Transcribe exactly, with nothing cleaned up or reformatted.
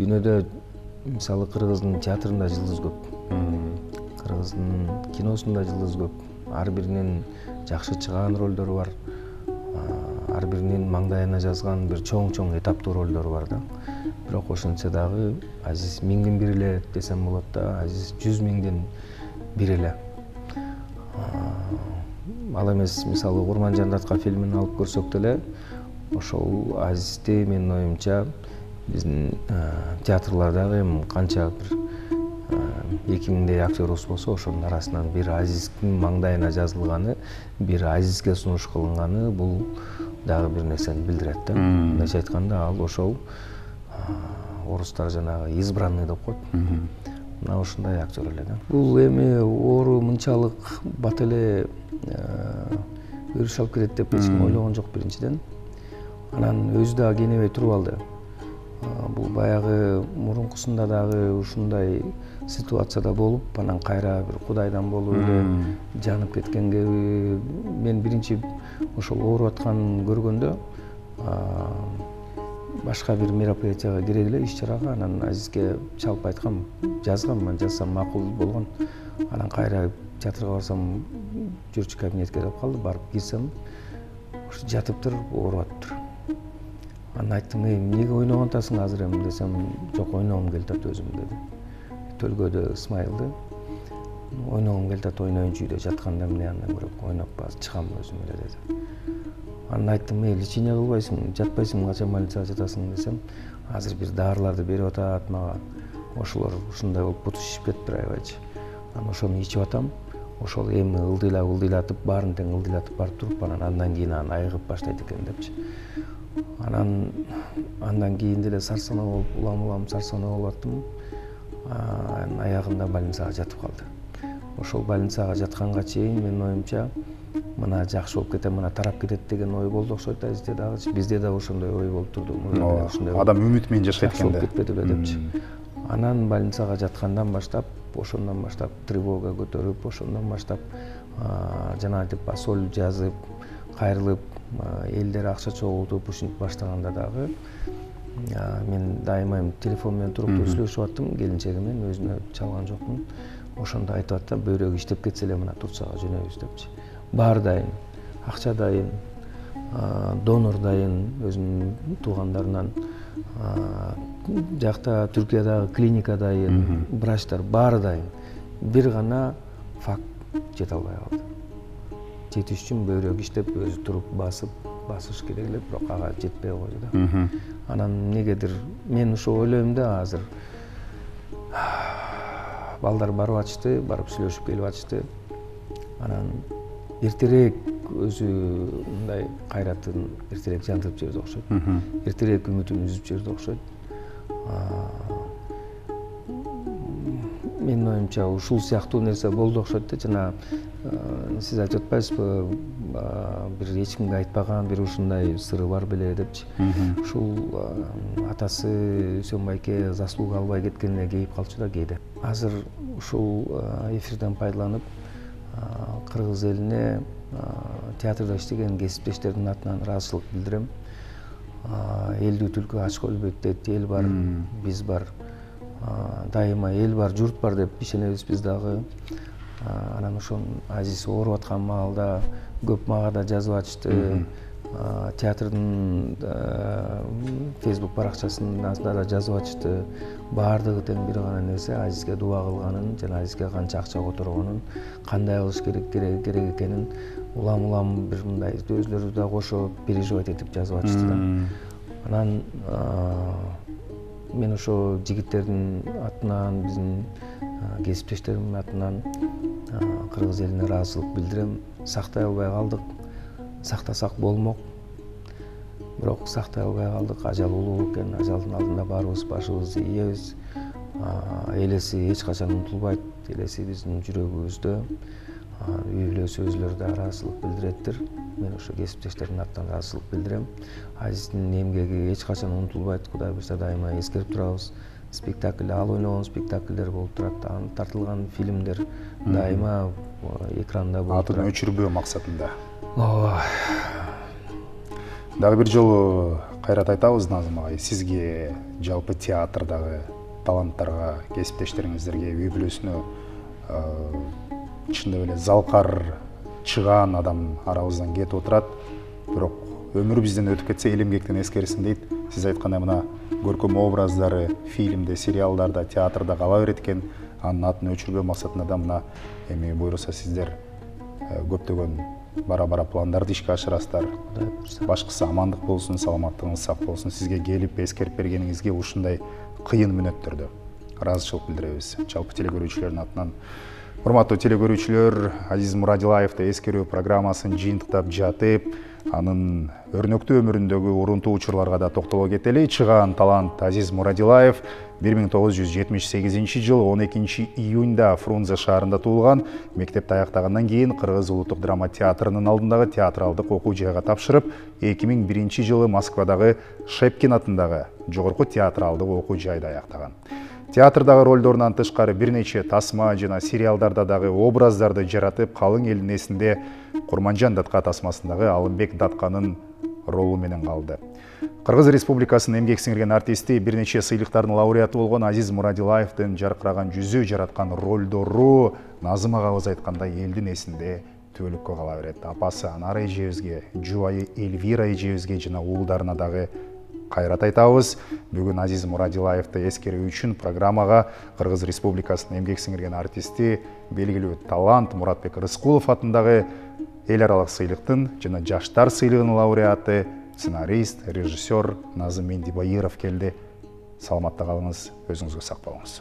Дүйнөдө мисалы кыргыздын театрында жылдыз көп, кыргыздын киносунда жылдыз көп. Ар биринин жакшы чыгаан ролдору бар, ар биринин маңдайына жазган бир чоң-чоң этаптуу ролдору бар да. Бирок ошентсе дагы Азиз миңдин бири эле десем болот да, Азиз жүз миңдин бири эле. Ал эмес мисалы Курман Жандатка фильмин алып көрсөк деле, ошол Азизди менин оюмча биздин театрлардагы эми канча бир эки миңдей актерубуз болсо, ошонун арасынан бир Азиздин маңдайына жазылганы, бир Азизге сунуш кылынганы бул дагы бир нерсени билдирет да. Мындайча айтканда ал ошол орустар жанагы избранный деп коет. Мына ушундай актер эле да. Бул эми оору мынчалык бат эле өрүш алып келет деп эч ким ойлогон жок биринчиден. Анан өзү дагы кенебей туруп алды. Бул баягы мурункусунда дагы ушундай ситуацияда болуп, анан кайра бир кудайдан болуп эле жанып кеткенге мен биринчи ошол ооруп атканын көргөндө башка бир мероприятияга кире эле иш-чарага, анан Азизге чалып айткам, жазгам, мен жазсам макул болгон. Анан кайра театрга барсам, жүрчү кабинетке деп калды, барып кирсем, ушу жатыптыр, ооруп атыптыр. Анан айттым, эй, эмнеге ойногон атасың азыр эми десем, жок, ойногум келип атат өзүм деди. Төлгөдө Исмайылды ойногум келип атат, ойноюнчу үйдө жатканда эмне андан көрөк ойноп чыгам өзүм эле деди. Анан айттым, эй, лечение кылбайсың, жатпайсың, качан больницага жатасың десем, азыр бир дарыларды берип атат мага. Ошолор ушундай болуп буту шишип кетиптир аябайчы. Анан ошону ичип атам. Ошол эми ылдыйлап ылдыйлатып, баарын тең ылдыйлатып барып туруп, анан андан кийин анан айыгып баштайт экен депчи. Анан андан кийин деле сарсанаа болуп, улам-улам сарсанаа болуп аттым. Анан аягында больницага жатып калды. Ошол больницага жатканга чейин менин оюмча мына жакшы болуп кетем, мына тарап кетет деген ой болду окшойт Азизде дагы. Бизде да ошондой ой болуп турду. Адам үмүт менен жашайт экен да. Болуп кетпедиби депчи. Анан больницага жаткандан баштап, ошондон баштап тревога көтөрүп, ошондон баштап жанагынтип соль жазып, кайрылып, элдер акча чогултуп ушинтип баштаганда дагы мен дайыма телефон менен туруктуу сүйлөшүп аттым келинчеги менен, өзүнө чалган жокмун. Ошондо айтып аттым, бөйрөгү иштеп кетсе эле мына Турцияга жөнөйбүз депчи. Баары дайын, акча дайын, донор дайын, өзүнүн туугандарынан, жакта Түркиядагы клиника дайын, врачтар баары дайын. Бир гана факт жете албай калды. Жетиш үчүн бөйрөк иштеп, өзү туруп басып, басыш керек эле, бирок ага жетпей койду да. Анан эмнегедир мен ошо ойлойм да азыр балдар барып атышты, барып сүйлөшүп келип атышты. Анан эртерээк өзү мындай кайратын эртерээк жандырып жиберди окшойт. Эртерээк үмүтүн үзүп жиберди окшойт. Менин оюмча ушул сыяктуу нерсе болду окшойт да. Жана сиз айтып атпайсызбы, бир эч кимге айтпаган бир ушундай сыры бар беле депчи. Ушул атасы Үсөн байке заслуга албай кеткенине кейип калчу да кээде. Азыр ушул эфирден пайдаланып кыргыз элине театрда иштеген кесиптештердин атынан ыраазычылык билдирем. Элдүү түлкү ачка өлбөйт дейт, эл бар, биз бар. Дайыма эл бар, журт бар деп ишенебиз биз дагы. Анан ошон Азиз ооруп аткан маалда көп мага да жазып атышты. Театрдын Facebook баракчасында да жазып атышты. Баардыгы тең бир гана нерсе, Азизге дуба кылганын, жана Азизге канча акча которгонун, кандай кылыш керек керек экенин улам-улам бир мындай өзүлөрү да кошо переживать этип жазып атышты да. Анан мен ошо жигиттердин атынан, биздин кесиптештеримдин атынан кыргыз элине ыраазычылык билдирем. Сактай албай калдык. Сактасак болмок. Бирок сактай албай калдык. Ажал улуу экен. Ажалдын алдында баарыбыз башыбызды ийебиз. Элеси эч качан унутулбайт. Элеси биздин жүрөгүбүздө. Үй бүлөсү өзүлөрү да ыраазычылык билдиреттир. Мен ошо кесиптештердин атынан ыраазычылык билдирем. Азиздин эмгеги эч качан унутулбайт. Кудай буйрса дайыма эскерип турабыз. Спектакль, ал ойногон спектакльдер болуп турат, тартылган фильмдер дайыма экранда болуп турат. Атын өчүрбөө максатында. Ооба. Дагы бир жолу кайрат айтабыз Назым агай, сизге жалпы театрдагы таланттарга, кесиптештериңиздерге үй бүлөсүнө чындап эле залкар чыгаан адам арабыздан кетип отурат. Бирок өмүр бизден өтүп кетсе эл эмгектен эскерсин дейт. Сиз айткандай мына көркөм образдары фильмде, сериалдарда, театрда кала берет экен. Анын атын өчүрбөө максатында да мына эми буйруса сиздер көптөгөн бара-бара пландарды ишке ашырасыздар. Башкысы амандык болсун, саламаттыгыңыз сак болсун. Сизге келип эскерип бергениңизге ушундай кыйын мүнөттөрдө ыраазычылык билдиребиз. Жалпы телекөрүүчүлөрдүн атынан. Урматтуу телекөрүүчүлөр, Азиз Мурадилаевди эскерүү программасын жыйынтыктап жатып, анын өрнөктүү өмүрүндөгү урунтуу учурларга да токтоло кетели. Чыгаан талант Азиз Мурадилаев бир миң тогуз жүз жетимиш сегизинчи жылы он экинчи июнда Фрунзе шаарында туулган. Мектепти аяктагандан кийин Кыргыз улуттук драма театрынын алдындагы театралдык окуу жайга тапшырып, эки миң биринчи жылы Москвадагы Шепкин атындагы жогорку театралдык окуу жайды аяктаган. Театрдагы ролдорунан тышкары бир нече тасма жана сериалдарда дагы образдарды жаратып, калың элдин эсинде Курманжан Датка тасмасындагы Алымбек Датканын ролу менен калды. Кыргыз Республикасынын эмгек сиңирген артисти, бир нече сыйлыктардын лауреаты болгон Азиз Мурадилаевдин жаркыраган жүзү, жараткан ролдору Назым агабыз айткандай элдин эсинде түбөлүккө кала берет. Апасы Анар эжебизге, жубайы Эльвира эжебизге жана уулдарына дагы кайрат айтабыз. Бүгүн Азиз Мурадилаевди эскерүү үчүн программага Кыргыз Республикасынын эмгек сиңирген артисти, белгилүү талант Муратбек Рыскулов атындагы эл аралык сыйлыктын жана жаштар сыйлыгынын лауреаты, сценарист, режиссер Назым Мендибайыров келди. Саламатта калыңыз, өзүңүзгө сак болуңуз.